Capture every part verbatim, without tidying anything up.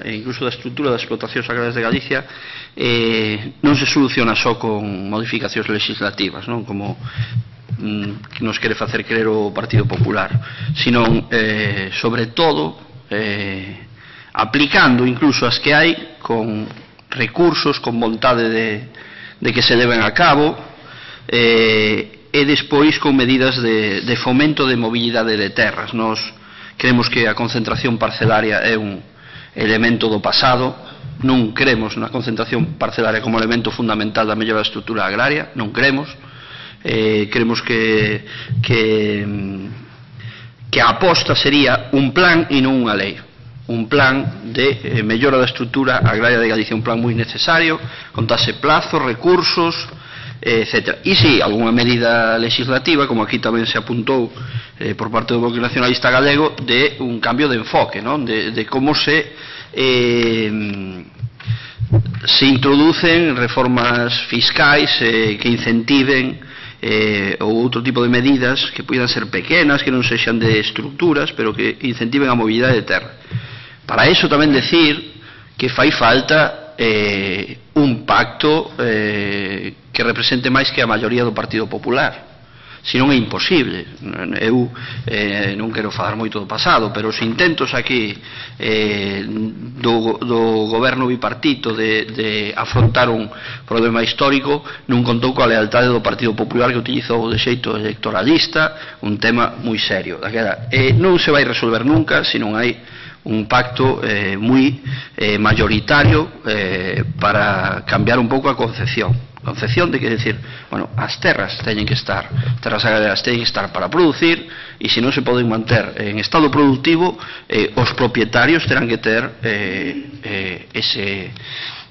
e incluso da estrutura das explotacións agrarias de Galicia eh, non se soluciona só con modificacións legislativas, non como mm, que nos quere facer creer o Partido Popular, sino eh, sobre todo eh, aplicando incluso as que hai con recursos, con vontade de, de que se leven a cabo eh, e despois con medidas de, de fomento de mobilidade de terras. Nos creemos que a concentración parcelaria é un elemento do pasado, non cremos na concentración parcelaria como elemento fundamental da mellora da estrutura agraria, non cremos, eh, cremos que, que, que a aposta sería un plan e non unha lei, un plan de eh, mellora da estrutura agraria de Galicia, un plan moi necesario, contase plazos, recursos, etcétera. E si, algunha medida legislativa, como aquí tamén se apuntou eh, por parte do Bloque Nacionalista Galego, de un cambio de enfoque, non? De, de como se eh, se introducen reformas fiscais eh, que incentiven eh, ou outro tipo de medidas que poidan ser pequenas, que non sexan de estructuras, pero que incentiven a mobilidade de terra. Para iso tamén decir que fai falta eh, un pacto eh, que represente máis que a maioría do Partido Popular, senón é imposible. Eu eh, non quero falar moito do pasado, pero os intentos aquí eh, do, do goberno bipartito de, de afrontar un problema histórico non contou coa lealtade do Partido Popular, que utilizou de xeito electoralista un tema moi serio. Daquela, eh, non se vai resolver nunca se non hai un pacto eh, moi eh, mayoritario eh, para cambiar un pouco a concepción concepción de que decir, bueno, as terras teñen que estar, terras agrarias teñen que estar para producir, e se non se poden manter en estado productivo, eh, os propietarios terán que ter eh, eh, ese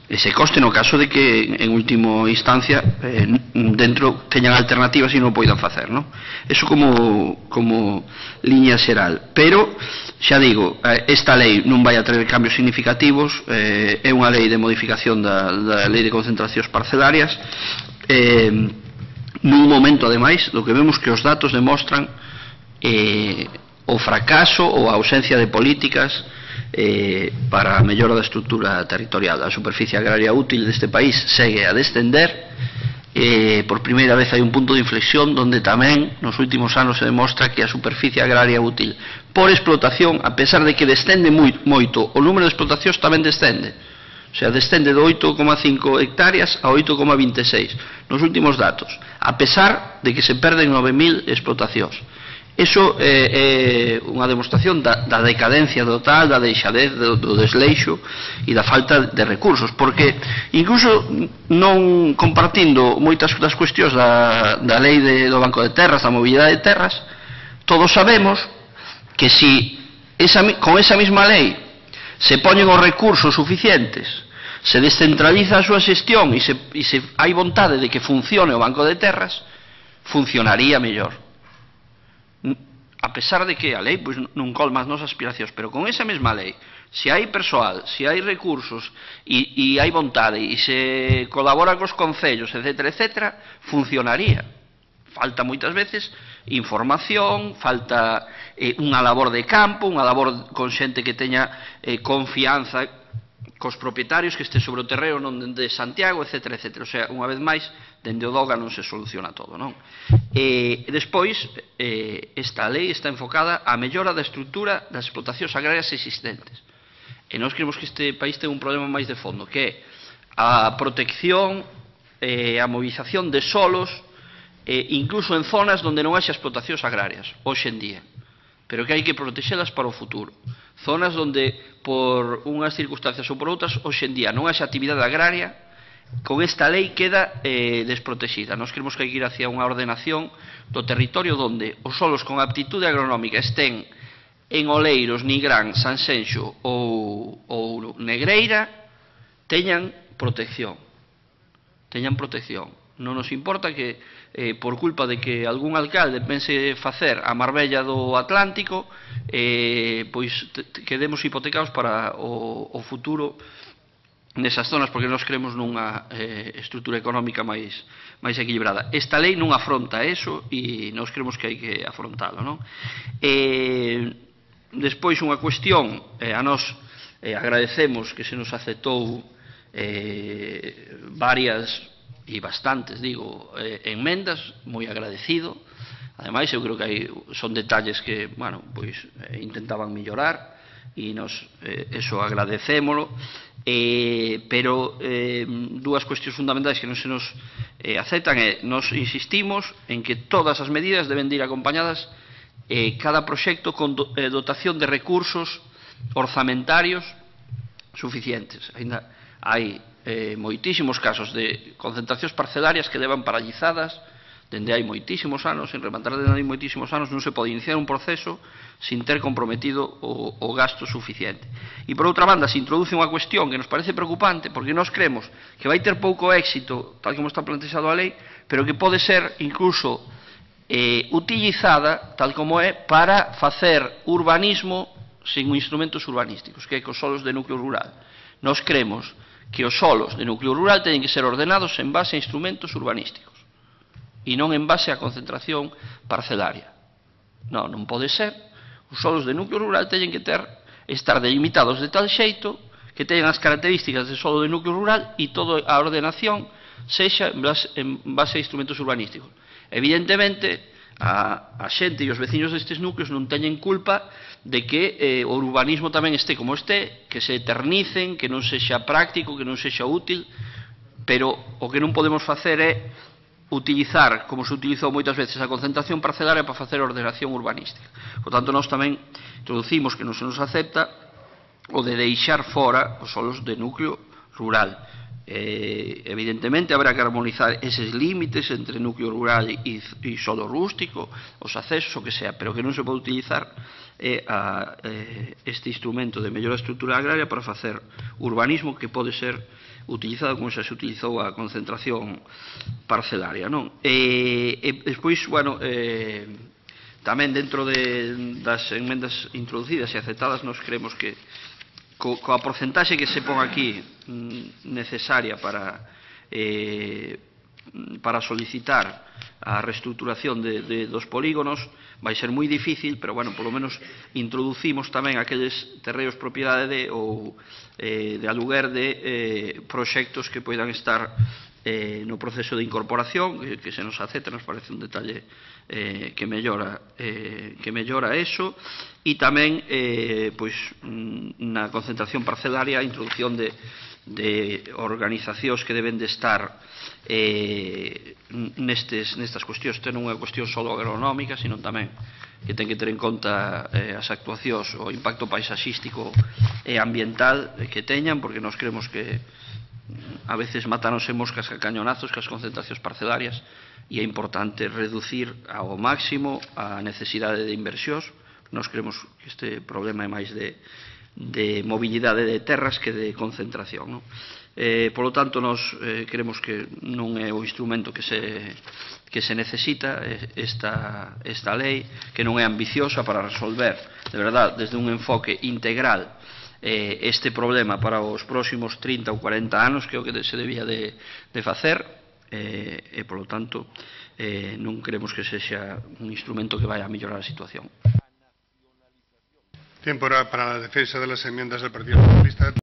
ese coste no caso de que en última instancia eh, dentro teñan alternativas e non poidan facer, non? Eso como, como liña xeral. Pero, xa digo, esta lei non vai a traer cambios significativos, eh, é unha lei de modificación da, da lei de concentracións parcelarias, eh, nun momento, ademais, do que vemos que os datos demostran eh, o fracaso ou a ausencia de políticas Eh, para a mellora da estrutura territorial. A superficie agraria útil deste país segue a descender, eh, por primeira vez hai un punto de inflexión donde tamén nos últimos anos se demostra que a superficie agraria útil por explotación, a pesar de que descende moi, moito, o número de explotacións tamén descende, o sea, descende de oito coma cinco hectáreas a oito coma vinte e seis nos últimos datos, a pesar de que se perden nove mil explotacións. Iso é, é unha demostración da, da decadencia total, da deixadez, do, do desleixo e da falta de recursos, porque incluso non compartindo moitas das cuestións da, da lei de, do Banco de Terras, da mobilidade de terras, todos sabemos que si esa, con esa mesma lei se poñen os recursos suficientes, se descentraliza a súa xestión e se, e se hai vontade de que funcione o Banco de Terras, funcionaría mellor. A pesar de que a lei pois, non colma as nosas aspiracións, pero con esa mesma lei, se hai persoal, se hai recursos e, e hai vontade e se colabora cos concellos, etcétera, etcétera, funcionaría. Falta moitas veces información, falta eh, unha labor de campo, unha labor con xente que teña eh, confianza cos propietarios, que este sobre o terreo non de Santiago, etcétera, etcétera. O sea, unha vez máis, dende o DOGA non se soluciona todo, non? E despois, eh, esta lei está enfocada á mellora da estrutura das explotacións agrarias existentes. E nós creemos que este país ten un problema máis de fondo, que é a protección, eh, a movilización de solos, eh, incluso en zonas onde non haxa explotacións agrarias, hoxe en día, pero que hai que protexelas para o futuro. Zonas onde, por unhas circunstancias ou por outras, hoxe en día non haxa actividade agraria, con esta lei queda eh, desprotexida. Nós creemos que hai que ir hacia unha ordenación do territorio onde os solos con aptitude agronómica estén en Oleiros, Nigrán, Sanxenxo ou, ou Negreira, teñan protección. Teñan protección. Non nos importa que, eh, por culpa de que algún alcalde pense facer a Marbella do Atlántico, eh, pois quedemos hipotecados para o, o futuro nesas zonas, porque nós creemos nunha eh, estrutura económica máis, máis equilibrada. Esta lei non afronta eso e nós creemos que hai que afrontalo, non? Eh, despois unha cuestión, eh, a nós Eh, agradecemos que se nos aceptou eh, varias e bastantes, digo, eh, enmendas, moi agradecido. Ademais, eu creo que hai, son detalles que, bueno, pois eh, intentaban mellorar e nos, eh, eso agradecémolo, eh, pero eh, dúas cuestións fundamentais que non se nos eh, aceptan é, nos insistimos en que todas as medidas deben de ir acompañadas eh, cada proxecto con do, eh, dotación de recursos orzamentarios suficientes. Ainda hai eh, moitísimos casos de concentracións parcelarias que levan paralizadas dende hai moitísimos anos, en rematar dende hai moitísimos anos non se pode iniciar un proceso sin ter comprometido o, o gasto suficiente. E por outra banda se introduce unha cuestión que nos parece preocupante porque nós creemos que vai ter pouco éxito tal como está plantexado a lei, pero que pode ser incluso eh, utilizada tal como é para facer urbanismo sin instrumentos urbanísticos, que é cos solos de núcleo rural. Nós creemos que os solos de núcleo rural teñen que ser ordenados en base a instrumentos urbanísticos e non en base a concentración parcelaria. Non, non pode ser. Os solos de núcleo rural teñen que ter, estar delimitados de tal xeito que teñan as características de solo de núcleo rural e toda a ordenación sexa en base, en base a instrumentos urbanísticos. Evidentemente, a, a xente e os veciños destes núcleos non teñen culpa de que eh, o urbanismo tamén este como este, que se eternicen, que non sexa práctico, que non sexa útil, pero o que non podemos facer é utilizar, como se utilizou moitas veces, a concentración parcelaria para facer ordenación urbanística. Por tanto, nós tamén introducimos que non se nos acepta o de deixar fora os solos de núcleo rural. Eh, evidentemente, habrá que armonizar eses límites entre núcleo rural e, e solo rústico, os accesos, o que sea, pero que non se pode utilizar eh, a, eh, este instrumento de mellora estructural agraria para facer urbanismo que pode ser utilizado como xa se utilizou a concentración parcelaria, non? E, e despois, bueno, eh, tamén dentro de, das enmendas introducidas e aceptadas, nos creemos que co, coa porcentaxe que se pon aquí mm, necesaria para eh, para solicitar a reestructuración de, de, dos polígonos vai ser moi difícil, pero, bueno, polo menos introducimos tamén aqueles terreos propiedade de, ou eh, de aluguer de eh, proxectos que poidan estar eh, no proceso de incorporación, que, que se nos acepta, nos parece un detalle eh, que mellora eh, que mellora eso, e tamén eh, pois, na concentración parcelaria a introducción de, de organizacións que deben de estar eh, nestes, nestas cuestións. Isto non é unha cuestión só agronómica, sino tamén que ten que ter en conta eh, as actuacións, o impacto paisaxístico e ambiental que teñan, porque nós creemos que a veces matanos en moscas a cañonazos que as concentracións parcelarias, e é importante reducir ao máximo a necesidade de inversións. Nós creemos que este problema é máis de, de mobilidade de terras que de concentración, non? Eh, polo tanto, nós eh, creemos que non é o instrumento que se, que se necesita esta, esta lei, que non é ambiciosa para resolver, de verdad, desde un enfoque integral eh, este problema para os próximos trinta ou cuarenta anos, que é o que se debía de, de facer, eh, e, polo tanto, eh, non creemos que sexa un instrumento que vai a mellorar a situación. Tiempo para la defensa de las enmiendas del Partido Socialista.